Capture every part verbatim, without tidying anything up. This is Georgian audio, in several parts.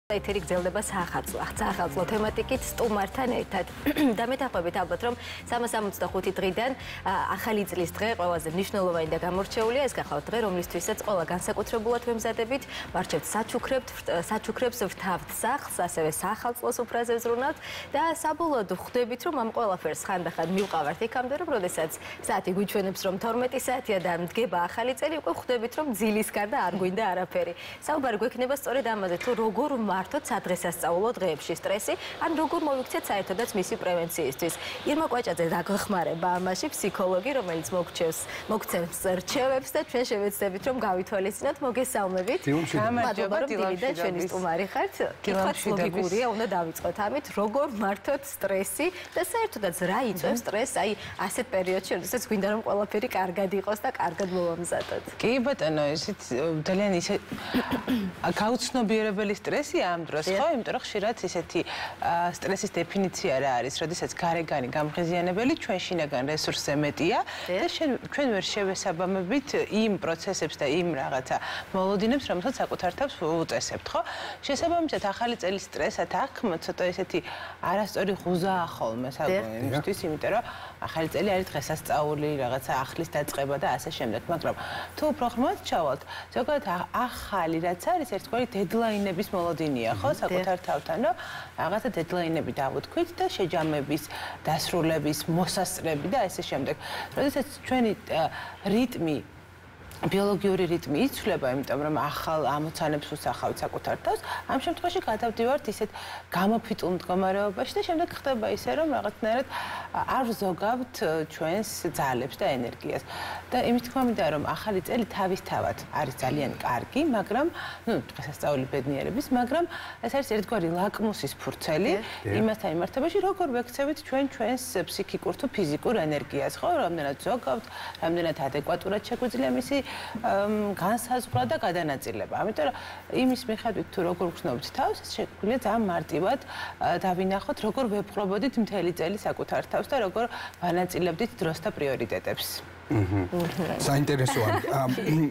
ეთერი გრძელდება საახალწლო, საახალწლო თემატიკით სტუმართან ერთად. და მეთაყვებით ალბათ, რომ სამას ოცდახუთი დღიდან ახალი წლის დღე ყველაზე მნიშვნელოვანი და გამორჩეულია. ეს გახავთ დღე, რომლისთვისაც ყველა განსაკუთრებულად ვემზადებით, ვარჩევთ საჩუქრებს, საჩუქრებს ვრთავთ სახლს, ასევე საახალწლოს უფრაზე ვზრუნავთ და საბოლოოდ ხვდებით, რომ ამ ყველაფერს ხანდახან მივყავართ იქამდე, რომ როდესაც საათი გვიჩვენებს, რომ თორმეტი საათია და მდგება ახალი წელი, უკვე ხვდებით, რომ ძილის გარდა არ გვინდა არაფერი. საუბარი გვექნება სწორედ ამაზე, თუ როგორ მართოთ სადღესასწაულო დღეებში სტრესი, ან როგორ მოვიქცეთ საერთოდაც მისი პრევენციისთვის. ირმა კვაჭაძე დაგხმარება ამაში, ფსიქოლოგი, რომელიც მოგჩევს, მოგცემს რჩევებს და ჩვენ შევეცდებით, რომ გავითვალისწინოთ. მოგესალმებით. მადლობა, რომ დილიდან ჩვენი სტუმარი ხართ. კითხვაც ლოგიკურია, უნდა დავიწყოთ ამით, როგორ მართოთ სტრესი და საერთოდაც რა იწვევს სტრესს, აი ასეთ პერიოდში, როდესაც გვინდა რომ ყველაფერი კარგად იყოს და კარგად მოვამზადოთ. კი ბატონო, ისიც ძალიან ისე გაუცნობიერებელი სტრესია ამ დროს, ხო? იმიტომ რომ ხშირად ისეთი სტრესის დეფინიცია რა არის, როდესაც გარეგანი გამღიზიანებელი ჩვენ შინაგან რესურსზე მეტია და ჩვენ ვერ შევესაბამებით იმ პროცესებს და იმ რაღაცა მოლოდინებს, რომელსაც საკუთარ თავს უწესებთ, ხო? შესაბამისად, ახალი წელის სტრესად აქ ცოტა ისეთი არასწორი ღუზაა ხოლმე საკუთრისთვის, იმიტომ რომ ახალი წელი არის დღესასწაული, რაღაცა ახლის დაწყება და ასე შემდეგ, მაგრამ თუ უფრო ღრმად ჩავალთ, ზოგადად ახალი რაც არის, ერთგვარი დედლაინების მოლოდინია, ხო, საკუთარ თავთან, რომ რაღაცა დედლაინები დავუთქვით და შეჯამების, დასრულების, მოსასწრები და ასე შემდეგ. როდესაც ჩვენი რიტმი ბიოლოგიური რიტმი იცვლება, იმიტომ რომ ახალ ამოცანებს ვუსახავთ საკუთარ თავს, ამ შემთხვევაში გადავდივართ ისეთ გამოფიტულ მდგომარეობაში და შემდეგ ხდება ისე, რომ რაღაცნაირად არ ვზოგავთ ჩვენს ძალებს და ენერგიას. და იმის თქმა მინდა, რომ ახალი წელი თავისთავად არის ძალიან კარგი, მაგრამ, ну, დღესასწაული ბედნიერების, მაგრამ ეს არის ერთგვარი ლაკმუსის ფურცელი იმასთან მიმართებაში, როგორ ვექცევით ჩვენ ჩვენს ფსიქიკურ თუ ფიზიკურ ენერგიას, ხო, რამდენად ზოგავთ, რამდენად ადეკვატურად შეგვიძლია მისი განსაზღვრა და გადანაწილება. ამიტომ იმის მიხედვით თუ როგორ გრძნობთ თავს, შეგვიძლია ძალიან მარტივად დავინახოთ, როგორ ვეპყრობოდით მთელი წელი საკუთარ თავს და როგორ ვანაწილებდით დროს და პრიორიტეტებს. საინტერესოა.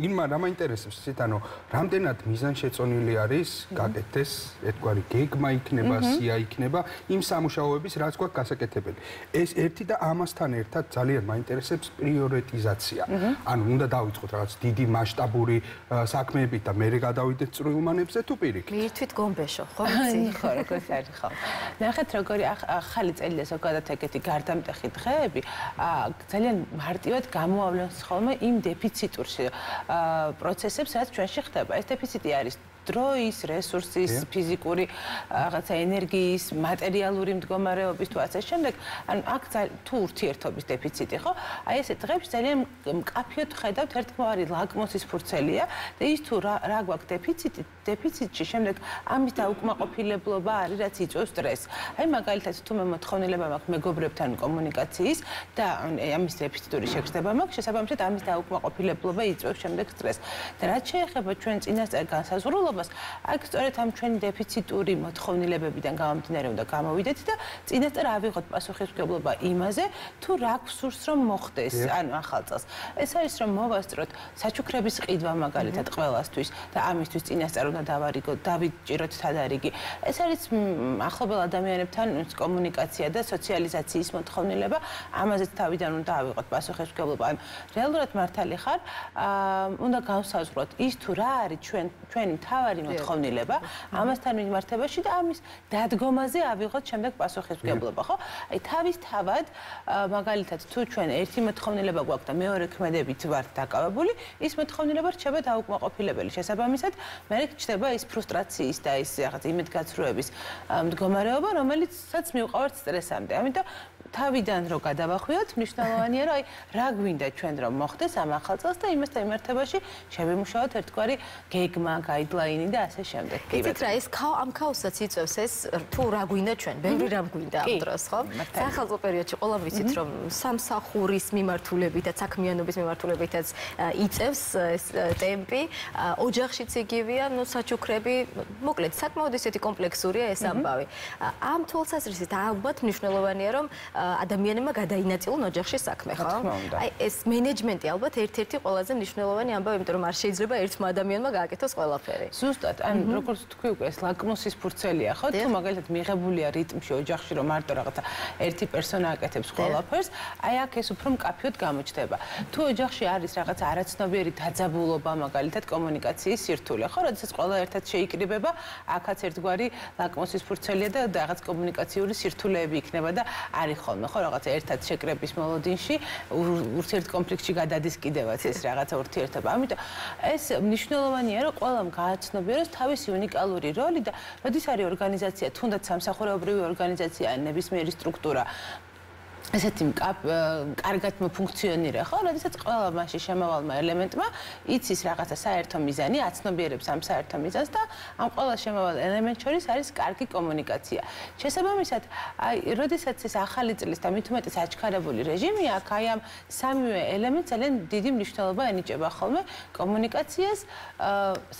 ირმა, რა მაინტერესებს ისეთ, ანუ რამდენად მიზანშეწონილი არის გაკეთდეს ერთგვარი გეგმა იქნება, სია იქნება იმ სამუშაოების, რაც გვაქვს გასაკეთებელი. ეს ერთი და ამასთან ერთად ძალიან მაინტერესებს პრიორიტიზაცია. ანუ უნდა დავიწყოთ რაღაც დიდი მასშტაბური საქმეებით და მერე გადავიდეთ წვრილმანებზე თუ პირიქით. მიირთვით გომბეშო, ხო? ხო, როგორც არის, ხო. ნახეთ, როგორი ახალი წელი და ზოგადად ეგეთი გარდამტეხი დღეები ძალიან მარტივად გამოავლენს ხოლმე იმ დეფიციტურ პროცესებს, რაც ჩვენში ხდება. ეს დეფიციტი არის დროის, რესურსის, ფიზიკური რაღაცა ენერგიის, მატერიალური მდგომარეობის თუ ასე შემდეგ, ანუ აქ თუ ურთიერთობის დეფიციტი, ხო? აი ესე დღეებში ძალიან მკაფიოდ ხედავთ ერთგვარი ლაკმუსის ფურცელია და ის თუ რა გვაქვს დეფიციტი, დეფიციტში შემდეგ ამის დაუკმაყოფილებლობა არის, რაც იწვევს სტრესს. აი მაგალითად, თუ მე მოთხოვნილება მაქვს მეგობრებთან კომუნიკაციის და ამის დეფიციტური შეგრძნება მაქვს, შესაბამისად ამის დაუკმაყოფილებლობა იწვევს შემდეგ სტრესს. და რაც შეეხება ჩვენ წინასწარ განსაზღვრულობას, აქ სწორედ ამ ჩვენი დეფიციტური მოთხოვნილებებიდან გამომდინარე უნდა გამოვიდეთ და წინასწარ ავიღოთ პასუხისმგებლობა იმაზე, თუ რა გვსურს რომ მოხდეს, ანუ ახალ წელს. ეს არის რომ მოვასწროთ საჩუქრების ყიდვა მაგალითად ყველასთვის და ამისთვის წინასწარ უნდა დავარიგოთ, დავიჭიროთ თადარიგი. ეს არის ახლობელ ადამიანებთან კომუნიკაცია და სოციალიზაციის მოთხოვნილება, ამაზეც თავიდან უნდა ავიღოთ პასუხისმგებლობა. ანუ რეალურად მართალი ხარ, უნდა გავსაზღვროთ ის თუ რა არის ჩვენ ჩვენი თავარი მოთხოვნილება, ამასთან მიმართებაში და ამის დადგომაზე ავიღოთ შემდეგ პასუხისმგებლობა, ხო? აი თავისთავად მაგალითად თუ ჩვენ ერთი მოთხოვნილება გვაქვს და მეორე ქმედებით ვართ დაკავებული, ის მოთხოვნილება რჩება დაუკმაყოფილებელი. შესაბამისად, მე რჩება ის ფრუსტრაციის და ის რაღაც იმედგაცრუების მდგომარეობა, რომელიცაც მივყავართ სტრესამდე. ამიტომ თავიდან რო გადავახვიოთ, მნიშვნელოვანია რომ აი რა გვინდა ჩვენ რომ მოხდეს ამ ახალ წელს და იმასთან მიმართებაში შევიმუშაოთ ერთგვარი გეგმა, გაიდლაინი და ასე შემდეგ. იცით რა, ეს ამ ქაოსაც იწევს ეს თუ რა გვინდა ჩვენ, ბევრი რამ გვინდა ამ დროს, ხო? საახალწლო პერიოდში ყველა ვიცით რომ სამსახურის მიმართულებითაც, საქმიანობის მიმართულებითაც იწევს ეს ტემპი, ოჯახშიც იგივეა, ნუ საჩუქრები, მოკლედ საკმაოდ ისეთი კომპლექსურია ეს ამბავი. ამ თვალსაზრისით ალბათ მნიშვნელოვანია რომ ადამიანებმა გადაინაწილონ ოჯახში საქმე, ხო? აი ეს მენეჯმენტი ალბათ ერთ-ერთი ყველაზე მნიშვნელოვანი ამბავი, იმიტომ რომ არ შეიძლება ერთმა ადამიანმა გააკეთოს ყველაფერი. ზუსტად, ან როგორც თქვი უკვე ეს ლაკმუსის ფურცელია, ხო? თუ მაგალითად მიღებულია რიტმში ოჯახში, რომ მარტო რაღაცა ერთი პერსონა აკეთებს ყველაფერს, აი აქ ეს უფრო მკაფიოდ გამოჩნდება. თუ ოჯახში არის რაღაცა არაცნობიერი დაძაბულობა, მაგალითად კომუნიკაციის სირთულე, ხო? როდესაც ყველა ერთად შეიკრიბება, აქაც ერთგვარი ლაკმუსის ფურცელია და რაღაც კომუნიკაციური სირთულეები იქნება და არის ხოლმე, ხო, რაღაცა ერთად შეკრების მოლოდინში ურთიერთ კონფლიქტში გადადის კიდევაც ეს რაღაცა ურთიერთობა. ამიტომ ეს მნიშვნელოვანია, რომ ყველამ გააცნობიეროს თავისი უნიკალური როლი და როდის არის ორგანიზაცია, თუნდაც სამსახურეობრივი ორგანიზაცია, ნებისმიერი სტრუქტურა ესეთი კარგად მოფუნქციონირება, ხო, როდესაც ყველა მასში შემავალმა ელემენტმა იცის რაღაცა საერთო მიზანი, აცნობიერებს ამ საერთო მიზანს და ამ ყველა შემავალ ელემენტ შორის არის კარგი კომუნიკაცია. შესაბამისად, აი, როდესაც ეს ახალი წლის და მით უმეტეს აჩქარებული რეჟიმი აქვს, აი ამ სამივე ელემენტს ძალიან დიდი მნიშვნელობა ენიჭება ხოლმე კომუნიკაციას,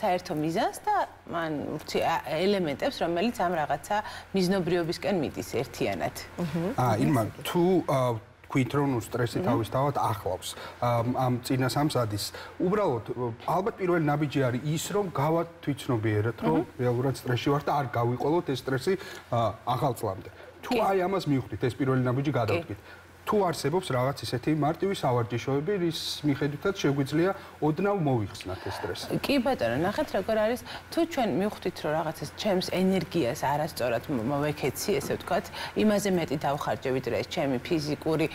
საერთო მიზანს და მან ელემენტებს, რომელიც ამ რაღაცა მიზნობრიობისკენ მიდის ერთიანად. აა, ირმა, თუ თქვით რომ სტრესი თავისთავად ახლავს ამ წინას ამსადის უბრალოდ ალბათ პირველი ნაბიჯი არის ის რომ გავათვითცნობიეროთ რომ რეალურად სტრესში ვარ და არ გავიყოლოთ ეს სტრესი ახალ წლამდე თუ აი ამას მივხვდით ეს პირველი ნაბიჯი გადავდგით თუ არსებობს რაღაც ისეთი მარტივი სავარჯიშოები რის მიხედვითაც შეგვიძლია ოდნავ მოვიხსნათ ეს სტრესი. კი ბატონო, ნახეთ როგორ არის თუ ჩვენ მივხვდით რომ რაღაცას ჩემს ენერგიას არასწორად მოვეკეცი, ესე ვთქვათ, იმაზე მეტი დავხარჯე ვიდრე ეს ჩემი ფიზიკური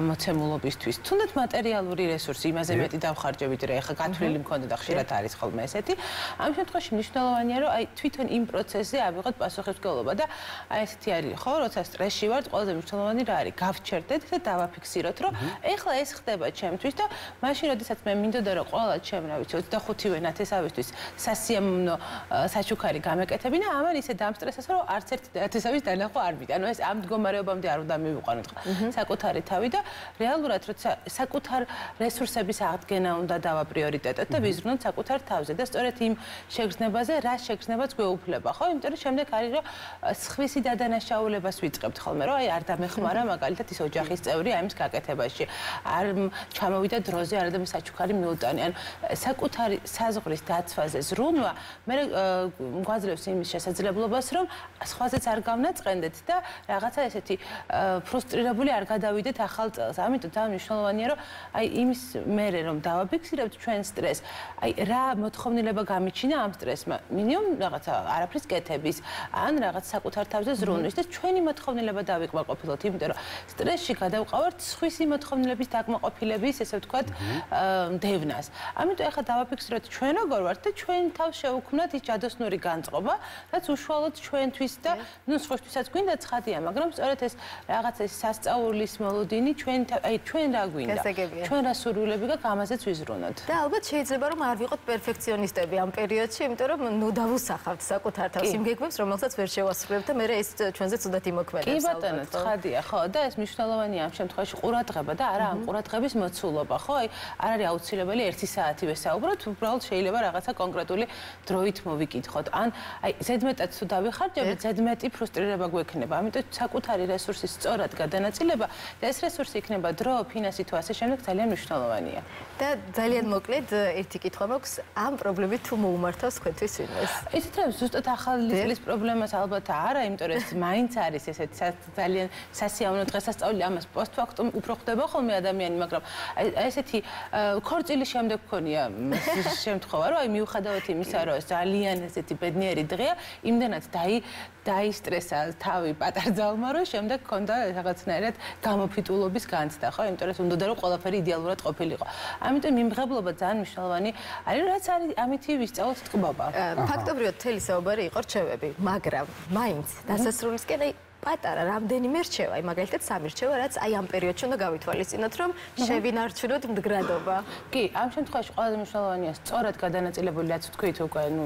მოცემულობისთვის, თუნდაც მატერიალური რესურსი იმაზე მეტი დავხარჯე ვიდრე ეხა გათვლილი მქონდა და ხშირად არის ხოლმე ესეთი. ამ შემთხვევაში მნიშვნელოვანია რომ აი თვითონ იმ პროცესზე ავიღოთ პასუხისმგებლობა და აი ესეთი არის ხო, როცა სტრესში ვართ, ყველაზე მნიშვნელოვანი რა არის? გავჩერდეთ და დავაფიქსიროთ, რომ ეხლა ეს ხდება ჩემთვის და მაშინ, როდესაც მე მინდოდა რომ ყველა ჩემ, რა ვიცი, ოცდახუთივე ნათესავისთვის სასიამოვნო საჩუქარი გამეკეთებინა, ამან ისე დამსტრესეს, რომ არც ერთი ნათესავის დანახვა არ მივიდა. ანუ ეს ამ მდგომარეობამდე არ უნდა მივიყვანოთ საკუთარი თავი და რეალურად, როცა საკუთარ რესურსების აღდგენა უნდა დავა პრიორიტეტად და ვიზრუნოთ საკუთარ თავზე და სწორედ იმ შეგრძნებაზე, რა შეგრძნებაც გვეუფლება, ხო? იმიტომ რომ შემდეგ არის რომ სხვისი დადანაშაულებას ვიწყებთ ხოლმე, რომ აი არ დამეხმარა მაგალითად ის ოჯახის წევრი ამის გაკეთებაში. არ ჩამოვიდა დროზე, არადამე საჩუქარი მიუტანი. ანუ საკუთარი საზღვრის დაცვაზე ზრუნვა მე გვაძლევს იმის შესაძლებლობას, რომ სხვაზეც არ გავნაწყენდეთ და რაღაცა ესეთი ფრუსტრირებული არ გადავიდეთ ახალ წელს. ამიტომ ძალიან მნიშვნელოვანია, რომ აი იმის მერე რომ დავაფიქსირებთ ჩვენ სტრესს, აი რა მოთხოვნილება გამიჩინა ამ სტრესმა. მინიმუმ რაღაცა არაფრის კეთების, ან რაღაც საკუთარ თავზე ზრუნვის და ჩვენი მოთხოვნილება დავიკმაყოფილოთ, იმიტომ რომ სტრესში გადავყავართ სხვისი მოთხოვნილების დაკმაყოფილების, ესე ვთქვათ, დევნას. ამიტომ ახლა დავაფიქსიროთ ჩვენ როგორ ვართ და ჩვენ თავს შევუქმნათ ის ჯადოსნური განწყობა, რაც უშუალოდ ჩვენთვის და ნუ სხვისთვისაც გვინდა ცხადია, მაგრამ სწორედ ეს რაღაც ეს სასწაულის მოლოდინი ჩვენ აი ჩვენ რა გვინდა. ჩვენ რა სურვილები გაქვს, ამაზეც ვიზრუნოთ. და ალბათ შეიძლება რომ არ ვიყოთ პერფექციონისტები ამ პერიოდში, იმიტომ რომ ნუ დავუსახავთ საკუთარ თავს იმ გეგმებს, რომელსაც ვერ შევასრულებთ და მე ეს ჩვენზე ცუდად იმოქმედებს. კი ბატონო, ცხადია, ხო, და ეს მნიშვნელოვანია ამ შემთხვევაში ყურადღება და არა ამ ყურადღების მოცულობა, ხო? აი არ არის აუცილებელი ერთი საათი ვესაუბროთ, უბრალოდ შეიძლება რაღაცა კონკრეტული დროით მოვიკითხოთ. ან აი ზედმეტად თუ დავიხარჯებით, ზედმეტი ფრუსტრირება გვექნება. ამიტომ საკუთარი რესურსის სწორად გადანაწილება და ეს რესურსი იქნება დრო, ფინანსი თუ ასე შემდეგ ძალიან მნიშვნელოვანია. და ძალიან მოკლედ ერთი კითხვა მაქვს, ამ პრობლემით თუ მოუმართავს თქვენთვის ვინმეს? ისეთ რა ზუსტად ახალი წლის პრობლემას ალბათ არა, იმიტომ რომ ეს მაინც არის ესეთი ძალიან სასიამოვნო დღესასწაული, ამას პოსტფაქტუმ უფრო ხდება ხოლმე ადამიანი, მაგრამ ესეთი ქორწილის შემდეგ მქონია შემთხვევა, რომ აი მიუხედავად იმისა, რომ ძალიან ესეთი ბედნიერი დღეა, იმდანაც დაი დაისტრესა თავი პატარ ძალმა, რომ შემდეგ ქონდა რაღაცნაირად გამოფიტულობის განცდა, ხო? იმიტომ რომ უნდა რომ ყველაფერი იდეალურად ყოფილიყო. ამიტომ მიმღებლობა ძალიან მნიშვნელოვანი არის, რაც არის ამითი ვისწავლოთ ტკბობა. ფაქტობრივად მთელი საუბარი იყო რჩევები, მაგრამ მაინც დასასრულისკენ აი პატარა რამდენიმე რჩევა, აი მაგალითად სამი რჩევა, რაც აი ამ პერიოდში უნდა გავითვალისწინოთ, რომ შევინარჩუნოთ მდგრადობა. კი, ამ შემთხვევაში ყველაზე მნიშვნელოვანია სწორად გადანაწილებული, რაც თქვით უკვე, ნუ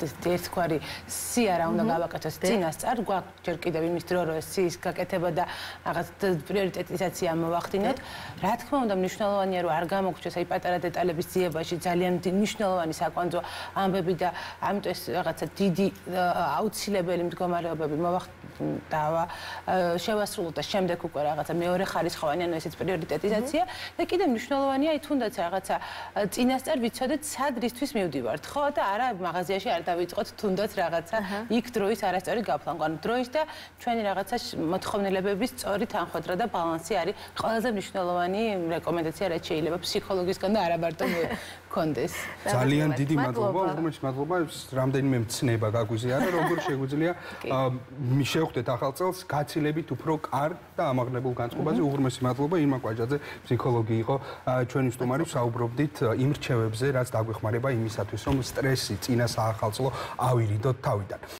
ერთგვარი სია რა უნდა გავაკეთოს წინასწარ, გვაქვს ჯერ კიდევ იმის დრო, რომ სიის გაკეთება და რაღაც პრიორიტეტიზაცია მოვახდინოთ. რა თქმა უნდა, მნიშვნელოვანია, რომ არ გამოგვჩეს აი პატარა დეტალების ძიებაში ძალიან მნიშვნელოვანი საკვანძო ამბები და ამიტომ ეს რაღაცა დიდი აუცილებელი მდგომარეობები მოვახდინა შევასრულოთ და შემდეგ უკვე რაღაცა მეორე ხარისხოვანი, ანუ ესეც პრიორიტეტიზაცია და კიდევ მნიშვნელოვანია აი თუნდაც რაღაცა წინასწარ ვიცოდეთ სად რისთვის მივდივართ, ხო და არა მაღაზიაში არ დავიწყოთ თუნდაც რაღაცა იქ დროის არასწორი გაფლანვა. ანუ დროის და ჩვენი რაღაცა მოთხოვნილებების სწორი თანხმდრა და ბალანსი არის ყველაზე მნიშვნელოვანი რეკომენდაცია, რაც შეიძლება ფსიქოლოგისგან და არა მარტო კონდეს. ძალიან დიდი მადლობა, უღრმესი მადლობა, რამდენიმე მცნება გაგვიზიარა, როგორ შეგვიძლია შევხვდეთ ახალ წელს გაცილებით უფრო კარგ და ამაღლებულ განწყობაზე. უღრმესი მადლობა ირმა კვაჯაძე, ფსიქოლოგი იყო ჩვენი სტუმარი, საუბრობდით იმ რჩევებზე, რაც დაგვეხმარება იმისათვის, რომ სტრესი წინა საახალწლო ავირიდოთ თავიდან.